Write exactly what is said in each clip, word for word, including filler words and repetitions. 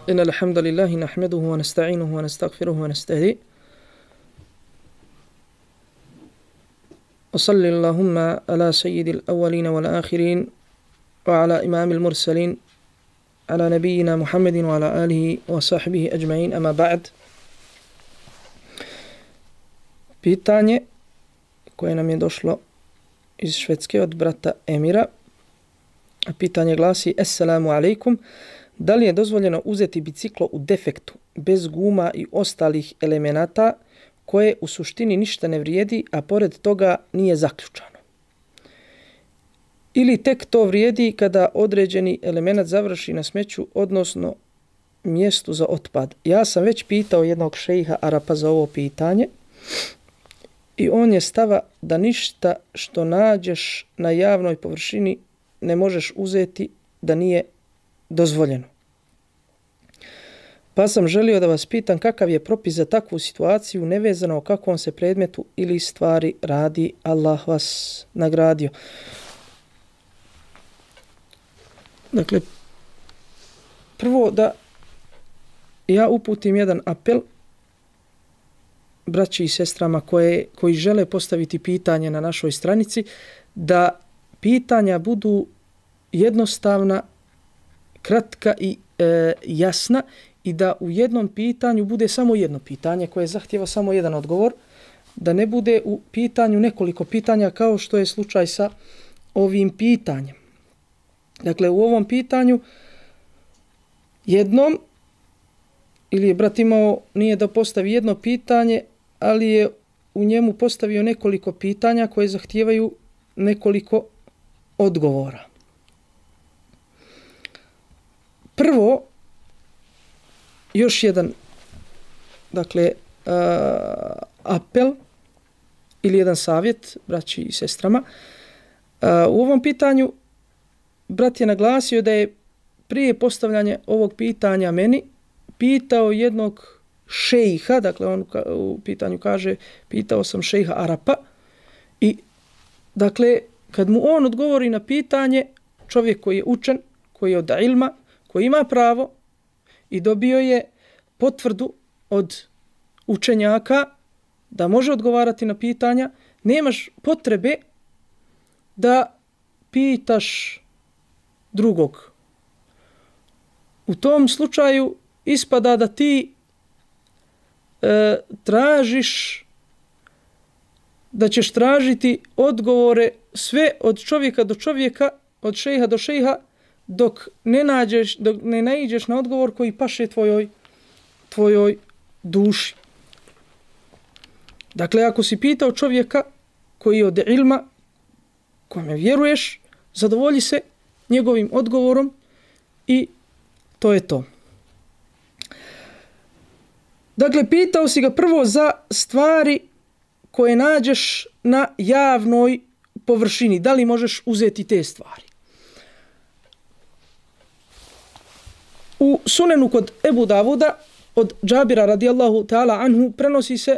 إن الحمد لله نحمده ونستعينه ونستغفره ونستهديه وصلى اللهم على سيد الأولين والآخرين وعلى إمام المرسلين على نبينا محمد وعلى آله وصحبه أجمعين أما بعد. Pitanje koje nam je došlo iz Švedske od brata Emira. Pitanje glasi: Assalamu alaikum. Da li je dozvoljeno uzeti biciklo u defektu, bez guma i ostalih elemenata, koje u suštini ništa ne vrijedi, a pored toga nije zaključano? Ili tek to vrijedi kada određeni element završi na smeću, odnosno mjestu za otpad? Ja sam već pitao jednog šejha Arapa za ovo pitanje i on je stava da ništa što nađeš na javnoj površini ne možeš uzeti da nije dozvoljeno. Pa sam želio da vas pitam kakav je propis za takvu situaciju, nevezano o kakvom se predmetu ili stvari radi. Allah vas nagradio. Dakle, prvo da ja uputim jedan apel braći i sestrama koje, koji žele postaviti pitanje na našoj stranici, da pitanja budu jednostavna, kratka i e, jasna i da u jednom pitanju bude samo jedno pitanje koje zahtjeva samo jedan odgovor, da ne bude u pitanju nekoliko pitanja kao što je slučaj sa ovim pitanjem. Dakle, u ovom pitanju jednom ili je brat imao nije da postavi jedno pitanje, ali je u njemu postavio nekoliko pitanja koje zahtijevaju nekoliko odgovora. Prvo, još jedan, dakle, uh, apel ili jedan savjet braći i sestrama. Uh, u ovom pitanju brat je naglasio da je prije postavljanja ovog pitanja meni pitao jednog šejha, dakle on u pitanju kaže pitao sam šejha Arapa i dakle kad mu on odgovori na pitanje, čovjek koji je učen, koji je od ilma, koji ima pravo i dobio je potvrdu od učenjaka da može odgovarati na pitanja, nemaš potrebe da pitaš drugog. U tom slučaju ispada da ti e, tražiš, da ćeš tražiti odgovore sve od čovjeka do čovjeka, od šejha do šejha, dok ne nađeš, dok ne naiđeš na odgovor koji paše tvojoj, tvojoj duši. Dakle, ako si pitao čovjeka koji je od ilma, kome vjeruješ, zadovolji se njegovim odgovorom i to je to. Dakle, pitao si ga prvo za stvari koje nađeš na javnoj površini. Da li možeš uzeti te stvari? U sunenu kod Ebu Davuda od Džabira radijallahu ta'ala anhu prenosi se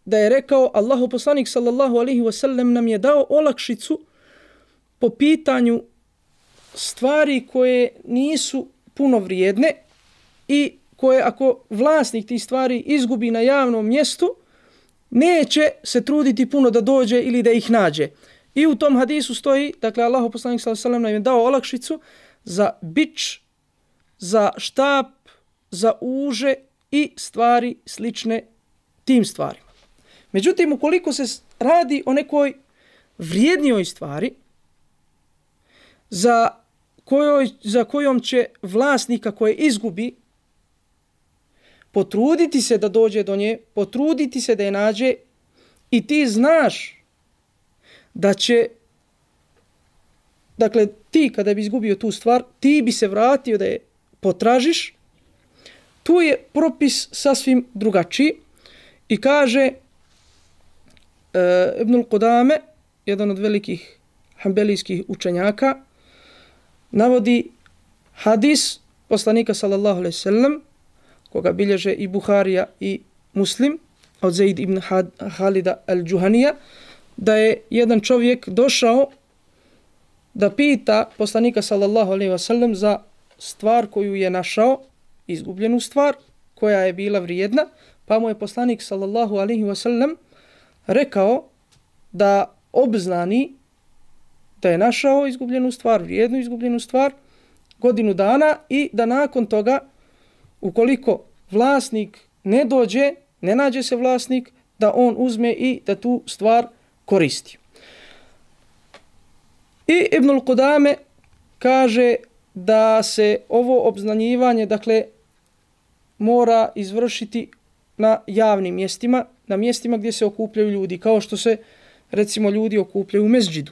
da je rekao Allahu poslanik sallallahu alaihi wasallam nam je dao olakšicu po pitanju stvari koje nisu puno vrijedne i koje ako vlasnik tih stvari izgubi na javnom mjestu, neće se truditi puno da dođe ili da ih nađe. I u tom hadisu stoji, dakle Allahu poslanik sallallahu alejhi ve sellem nam je dao olakšicu za bič, za štap, za uže i stvari slične tim stvarima. Međutim, ukoliko se radi o nekoj vrijednijoj stvari za kojoj, za kojom će vlasnika koje izgubi potruditi se da dođe do nje, potruditi se da je nađe i ti znaš da će, dakle, ti kada bi izgubio tu stvar, ti bi se vratio da je potražiš, tu je propis sasvim drugačiji i kaže e, Ibnul Qudame, jedan od velikih hanbelijskih učenjaka, navodi hadis poslanika sallallahu alejhi ve sellem koga bilježe i Buharija i Muslim od Zaid ibn Halida al-Juhanija, da je jedan čovjek došao da pita poslanika sallallahu alejhi ve sellem za stvar koju je našao izgubljenu stvar koja je bila vrijedna, pa mu je poslanik sallallahu alejhi ve sellem rekao da obznani da je našao izgubljenu stvar, vrijednu izgubljenu stvar, godinu dana i da nakon toga, ukoliko vlasnik ne dođe, ne nađe se vlasnik, da on uzme i da tu stvar koristi. I Ibnul Qudame kaže da se ovo obznanjivanje, dakle, mora izvršiti na javnim mjestima, na mjestima gdje se okupljaju ljudi, kao što se, recimo, ljudi okupljaju u mezđidu.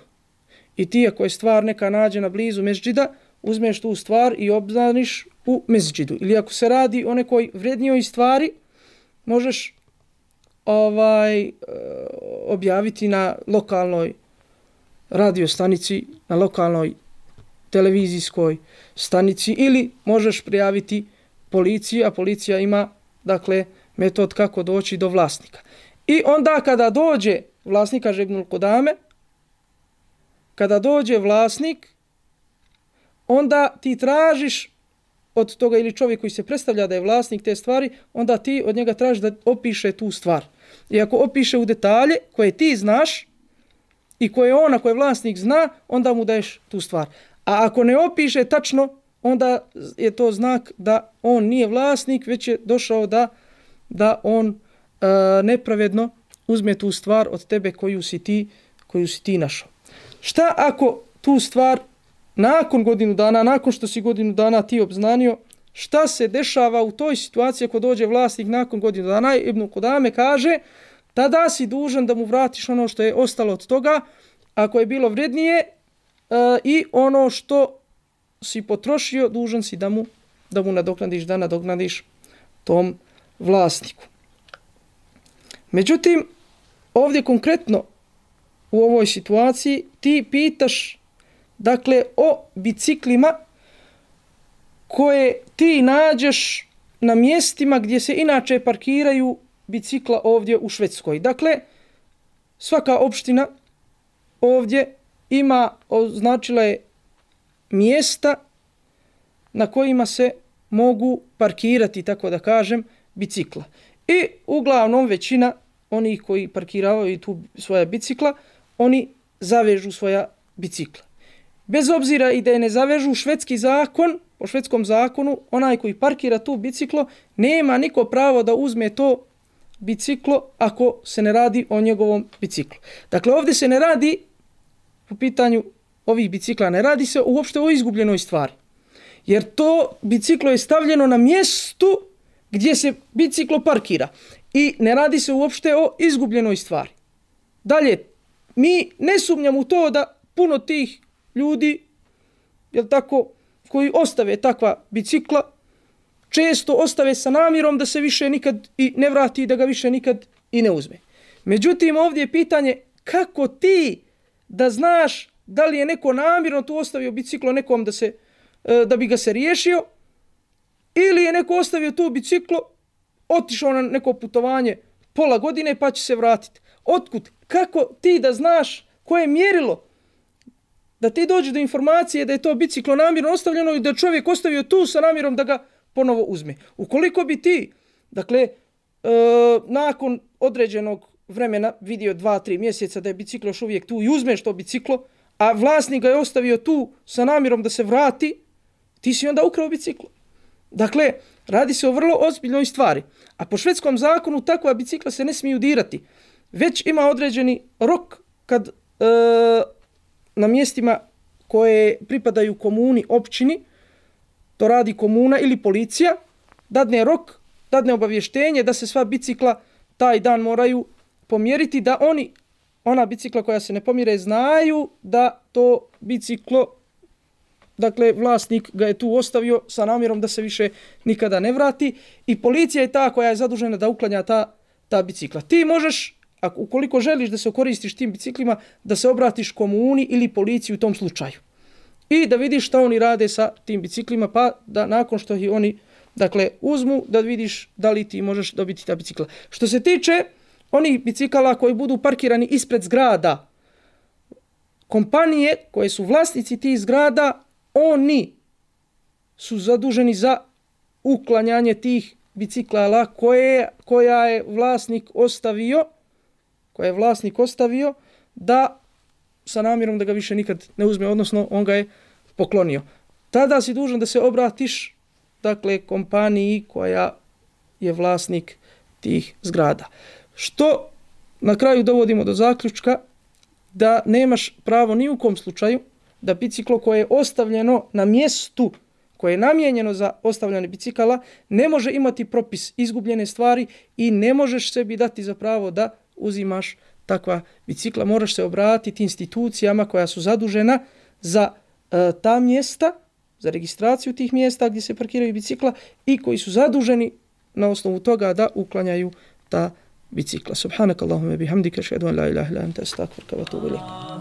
I ti, ako je stvar neka nađena blizu mezđida, uzmeš tu stvar i obznaniš u mezđidu. Ili ako se radi o nekoj vrednijoj stvari, možeš ovaj objaviti na lokalnoj radio stanici, na lokalnoj televizijskoj stanici, ili možeš prijaviti policiji, a policija ima, dakle, metod kako doći do vlasnika. I onda kada dođe vlasnik, kaže Ibnul Qudame, kada dođe vlasnik, onda ti tražiš od toga, ili čovjek koji se predstavlja da je vlasnik te stvari, onda ti od njega tražiš da opiše tu stvar. I ako opiše u detalje koje ti znaš i koje on, ako je vlasnik, zna, onda mu daješ tu stvar. A ako ne opiše tačno, onda je to znak da on nije vlasnik, već je došao da, da on e, nepravedno uzme tu stvar od tebe koju si ti, koju si ti našao. Šta ako tu stvar nakon godinu dana, nakon što si godinu dana ti obznanio, šta se dešava u toj situaciji ako dođe vlasnik nakon godinu dana? Ibn Qudame kaže, tada si dužan da mu vratiš ono što je ostalo od toga, ako je bilo vrednije, e, i ono što si potrošio, dužan si da mu, da mu nadoknadiš, da nadoknadiš tom vlasniku. Međutim, ovdje konkretno u ovoj situaciji ti pitaš, dakle, o biciklima koje ti nađeš na mjestima gdje se inače parkiraju bicikla ovdje u Švedskoj. Dakle, svaka opština ovdje ima, označila je mjesta na kojima se mogu parkirati, tako da kažem, bicikla. I uglavnom većina onih koji parkiravaju tu svoja bicikla, oni zavežu svoja bicikla. Bez obzira i da je ne zavežu, švedski zakon, po švedskom zakonu, onaj koji parkira tu biciklo, nema niko pravo da uzme to biciklo ako se ne radi o njegovom biciklu. Dakle, ovdje se ne radi, po pitanju ovih bicikla, ne radi se uopšte o izgubljenoj stvari. Jer to biciklo je stavljeno na mjestu gdje se biciklo parkira. I ne radi se uopšte o izgubljenoj stvari. Dalje, mi ne sumnjamo u to da puno tih ljudi, jel tako, koji ostave takva bicikla, često ostave sa namjerom da se više nikad i ne vrati, da ga više nikad i ne uzme. Međutim, ovdje je pitanje kako ti da znaš da li je neko namjerno tu ostavio biciklo nekom da, se, da bi ga se riješio, ili je neko ostavio tu biciklo, otišao na neko putovanje pola godine pa će se vratiti. Otkud? Kako ti da znaš koje je mjerilo da ti dođe do informacije da je to biciklo namjerno ostavljeno i da čovjek ostavio tu sa namjerom da ga ponovo uzme? Ukoliko bi ti, dakle, e, nakon određenog vremena vidio dva, tri mjeseca da je biciklo još uvijek tu i uzmeš to biciklo, a vlasnik ga je ostavio tu sa namjerom da se vrati, ti si onda ukrao biciklo. Dakle, radi se o vrlo ozbiljnoj stvari. A po švedskom zakonu takva bicikla se ne smiju dirati. Već ima određeni rok kad e, na mjestima koje pripadaju komuni, općini, to radi komuna ili policija, dadne rok, dadne obavještenje da se sva bicikla taj dan moraju pomjeriti, da oni, ona bicikla koja se ne pomjere, znaju da to biciklo, dakle, vlasnik ga je tu ostavio sa namjerom da se više nikada ne vrati, i policija je ta koja je zadužena da uklanja ta, ta bicikla. Ti možeš, ako, ukoliko želiš da se koristiš tim biciklima, da se obratiš komuni ili policiji u tom slučaju. I da vidiš šta oni rade sa tim biciklima, pa da nakon što ih oni, dakle, uzmu, da vidiš da li ti možeš dobiti ta bicikla. Što se tiče onih bicikala koji budu parkirani ispred zgrada, kompanije koje su vlasnici tih zgrada, oni su zaduženi za uklanjanje tih bicikala koje, koja je vlasnik ostavio, koja je vlasnik ostavio da sa namjerom da ga više nikad ne uzme, odnosno on ga je poklonio. Tada si dužan da se obratiš, dakle, kompaniji koja je vlasnik tih zgrada. Što na kraju dovodimo do zaključka da nemaš pravo ni u kom slučaju da biciklo koje je ostavljeno na mjestu koje je namijenjeno za ostavljanje bicikala ne može imati propis izgubljene stvari i ne možeš sebi dati za pravo da uzimaš takva bicikla. Moraš se obratiti institucijama koja su zadužena za e, ta mjesta, za registraciju tih mjesta gdje se parkiraju bicikla i koji su zaduženi na osnovu toga da uklanjaju ta bicikla. Subhanakallahumma bihamdika, ashhadu an la ilaha illa anta, astaghfiruka wa atubu ilaik.